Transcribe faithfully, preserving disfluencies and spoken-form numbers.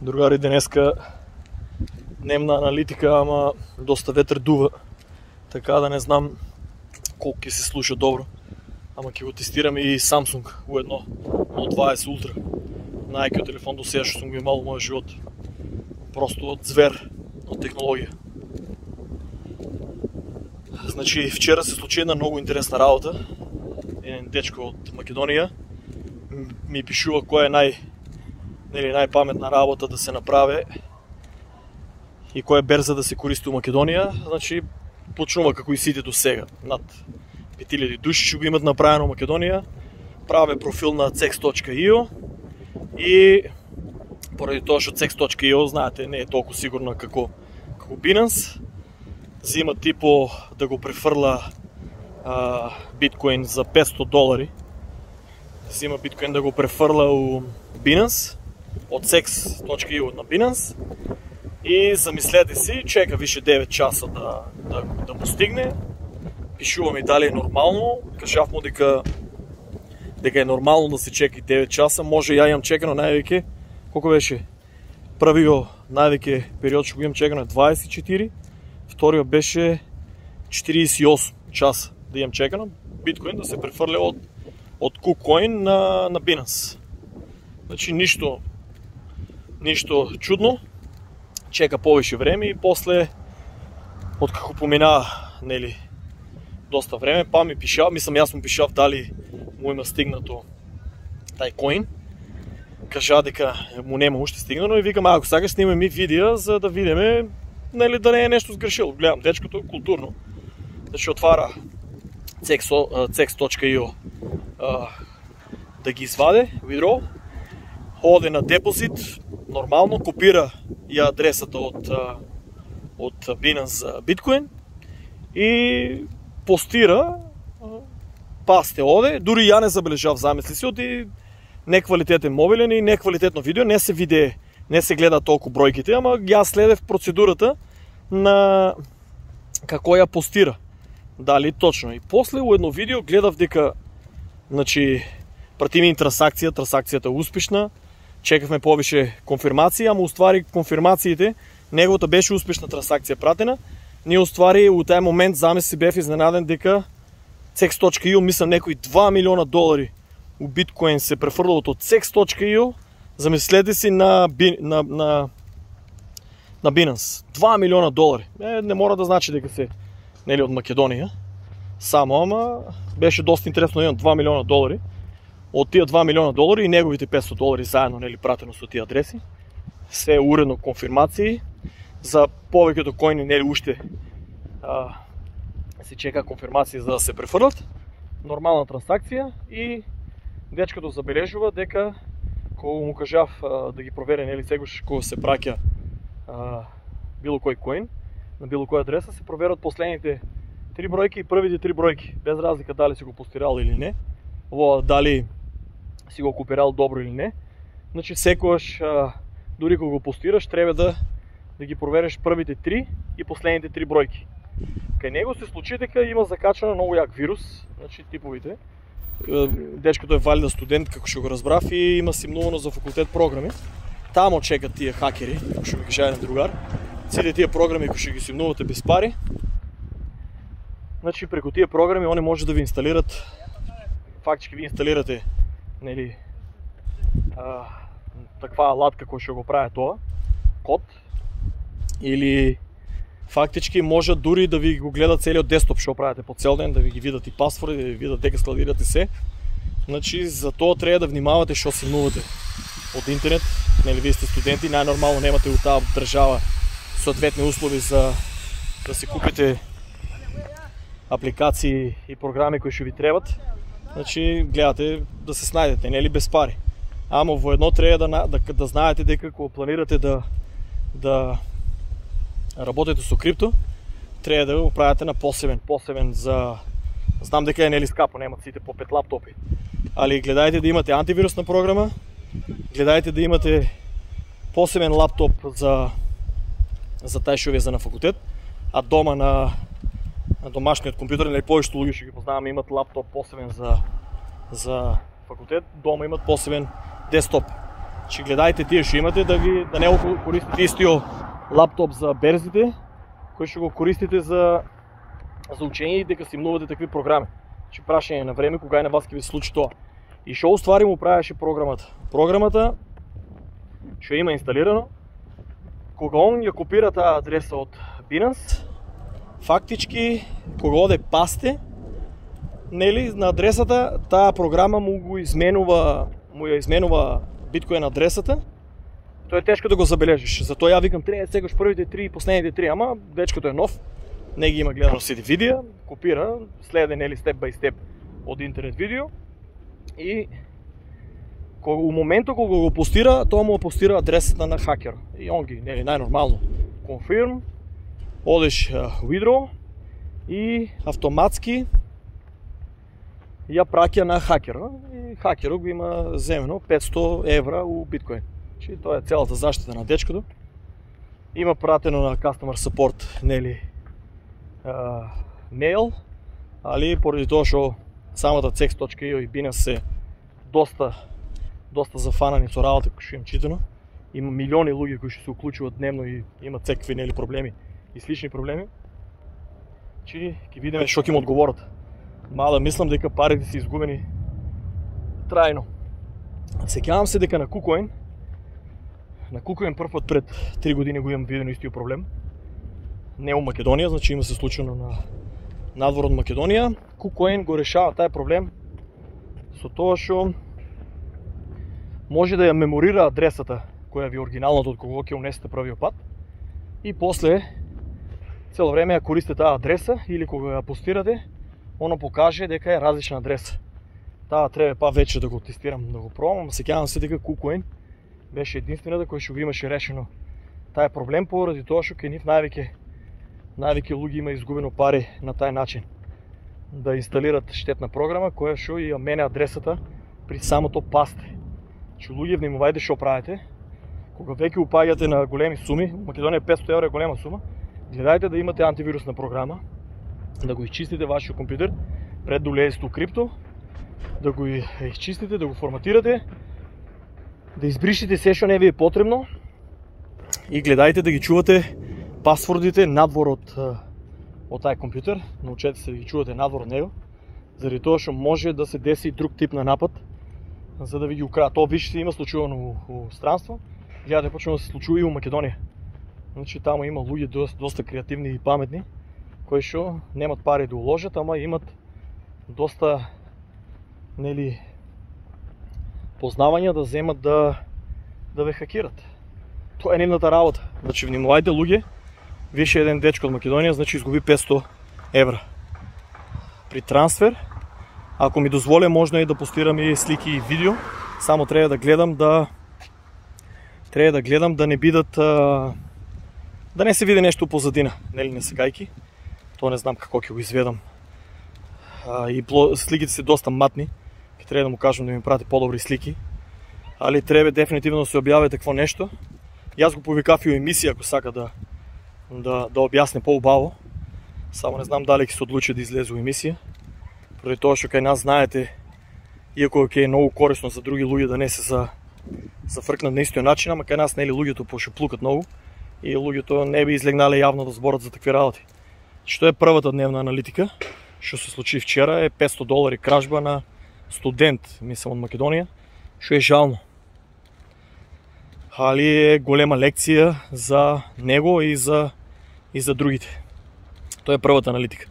Другари, денеска дневна аналитика, ама доста ветер дува, така да не знам колко ќе се слуша добро. Ама ќе го тестирам и Samsung уедно Note дваесет Ultra. Најајкиот телефон до сега што сум го имал во мојот живот. Просто од звер од технологија. Значи, вчера се случи една многу интересна работа. Еден дечко од Македонија ми пишува која е нај нели најпаметна работа да се направи и која е берза да се користи у Македонија. Значи, почнува како и сите до сега. Над пет илјади души што го имат направено во Македонија. Праве профил на cex точка io и поради тоа што cex точка io, знаете, не е толку сигурна како како Binance, зима типо да го префрла а, биткоин за петсто долари. Зима биткоин да го префрла у Binance од cex точка io на Binance и замислете си, чека више девет часа да, да, да му стигне. Пишува ми дали е нормално, кажав му дека дека е нормално да се чека и девет часа, може ја имам чекано највеќе, колко беше? Првиот највеќе период што го имам чекано е дваесет и четири, вториот беше четириесет и осум часа да имам чекано биткоин да се префрле од од KuCoin на на Binance. Значи ништо ништо чудно. Чека повеќе време и после откако помина, нели, доста време, па ми пишав, мислам јас му пишав дали му има стигнато тај коин. Кажа дека му нема уште стигнано и викам, ако сакаш снимаме ми видео за да видиме, нели, да не е нешто сгрешило. Гледам дечкото културно. Значи отвара cex точка io да ги изваде, withdraw, оде на депозит, нормално, копира ја адресата од од Binance за биткоин и постира, пасте оде, дури ја не забележав, замисли си, оди неквалитетен мобилен и неквалитетно видео, не се виде, не се гледа толку бројките, ама ја следев процедурата на како ја постира. Дали точно. И после у едно видео гледав дека, значи, прати ми трансакција, трансакцијата е успешна, чекавме повише конфирмации, ама уствари конфирмациите, неговата беше успешна трансакција пратена. Ние уствари у тај момент замисли бев изненаден дека cex точка io, мислам некои два милиона долари у биткоин се префрлат од cex точка io, замислете си на, на, на, на Binance. два милиона долари. Е, не мора да значи дека се, нели, од Македонија. Само, ама беше доста интересно да имам два милиона долари. Од тие два милиона долари и неговите петсто долари заедно, нели, пратено со тие адреси. Се уредно конфирмации. За повеќето коини, нели, уште а, се чека конфирмација за да се префрлат. Нормална трансакција и дечкото забележува дека кога му кажав а, да ги провере, нели, сегаш кога се праќа а, било кој коин на било која адреса, се проверат последните три бројки и првите три бројки, без разлика дали си го постирал или не, во дали си го копирал добро или не. Значи секогаш а, дури кога го постираш, треба да да ги провериш првите три и последните три бројки. Кај него се случи дека има закачано многу јак вирус, значи типовите. Дечкото е валида студент, како што го разбрав, и има симнувано за факултет програми. Тамо чекат тие хакери, како што ми кажа еден другар. Сите тие програми кои што ги симнувате без пари. Значи преку тие програми они може да ви инсталират, фактички ви инсталирате, нели, а, таква алатка која што го прави тоа, код, или фактички може дури да ви го гледат целиот десктоп што правите по цел ден, да ви ги видат и пасворди, да ви видат дека складирате се. Значи за тоа треба да внимавате што симнувате од интернет. Нели, вие сте студенти, најнормално немате у таа држава соодветни услови за да се купите апликации и програми кои што ви требат. Значи гледате да се снајдете, нели, без пари. Ама во едно треба да да, да знаете дека кога планирате да да работите со крипто, треба да го правите на посебен, посебен за, знам дека е, нели, скапо, немат сите по пет лаптопи. Али гледајте да имате антивирусна програма, гледајте да имате посебен лаптоп за за тај што ви е за на факултет, а дома на на домашниот компјутер, нели, повеќето луѓе што ги познаваме имат лаптоп посебен за за факултет, дома имат посебен десктоп. Че гледајте тие што имате да ги да не го користите истиот лаптоп за берзите, кој што го користите за за учење и дека симнувате такви програми. Че прашање на време кога и на вас ќе ви се случи тоа. И што уствари му правеше програмата? Програмата што има инсталирано, кога он ја копира таа адреса од Binance, фактички кога оде пасте, нели, на адресата, таа програма му го изменува, му ја изменува биткоин адресата. Тоа е тешко да го забележиш. Затоа ја викам треба секогаш првите три и последните три, ама дечкото е нов, не ги има гледано сите видеа, копира, следе нели степ бај степ од интернет видео и кога у моментот кога го постира, тоа му постира адресата на хакер. И он ги, нели, најнормално confirm, одеш uh, withdraw и автоматски ја праќа на хакерот. И хакерот го има земено петсто евра у биткоин. Чи тоа е целата заштита на дечкото. Има пратено на customer support, нели, uh, мејл, али поради тоа што самата цекс точка и о и Binance се доста доста зафанани со работа кои што им читано. Има милиони луѓе кои што се уклучуваат дневно и имаат секакви нели проблеми и слични проблеми. Чи ќе видиме што ќе им одговорат. Мала мислам дека парите се изгубени трајно. Сеќавам се дека на KuCoin, на KuCoin прв пат пред три години го имам видено истиот проблем. Не у Македонија, значи има се случено на надвор од Македонија. KuCoin го решава тај проблем со тоа што може да ја меморира адресата која ви е оригиналната од кого ќе унесете првиот пат и после цело време ја користите таа адреса или кога ја постирате, оно покаже дека е различна адреса. Таа треба па вече да го тестирам, да го пробам, сеќавам се дека KuCoin беше единствената која што го имаше решено тај проблем поради тоа што кај нив највеќе највеќе луѓе има изгубено пари на тај начин. Да инсталират штетна програма која што ја мене адресата при самото пасте. Че луѓе внимавајте што правите. Кога веќе упаѓате на големи суми, Македонија петсто евра е голема сума, гледајте да имате антивирусна програма, да го изчистите вашиот компјутер пред да улезете у крипто, да го изчистите, да го форматирате, да избришите се што не ви е потребно и гледајте да ги чувате пасвордите надвор од од тај компјутер, научете се да ги чувате надвор од него, заради тоа што може да се деси друг тип на напад, за да ви ги украдат. Тоа више се има случувано у, у странство, гледате почнува да се случува и у Македонија. Значи таму има луѓе доста, доста креативни и паметни, кои што немат пари да уложат, ама имат доста нели познавања да земат да да ве хакират. Тоа е нивната работа. Значи внимавајте луѓе, више еден дечко од Македонија, значи изгуби петсто евра. При трансфер, ако ми дозволе, можно и да постирам и слики и видео, само треба да гледам да треба да гледам да не бидат да не се види нешто позадина, нели не сегајки. Тоа не знам како ќе го изведам. А, и сликите се доста матни, ќе треба да му кажам да ми прати подобри слики. Али треба дефинитивно да се објави такво нешто. Јас го повикав и у емисија ако сака да да да објасни поубаво. Само не знам дали ќе се одлучи да излезе у емисија. Поради тоа што кај нас знаете, иако ќе е многу корисно за други луѓе да не се за зафркнат на истиот начин, ама кај нас нели луѓето пошуплукат многу и луѓето не би излегнале јавно да зборат за такви работи. Што е првата дневна аналитика, што се случи вчера, е петсто долари кражба на студент, мислам од Македонија, што е жално. Али е голема лекција за него и за и за другите. Тоа е првата аналитика.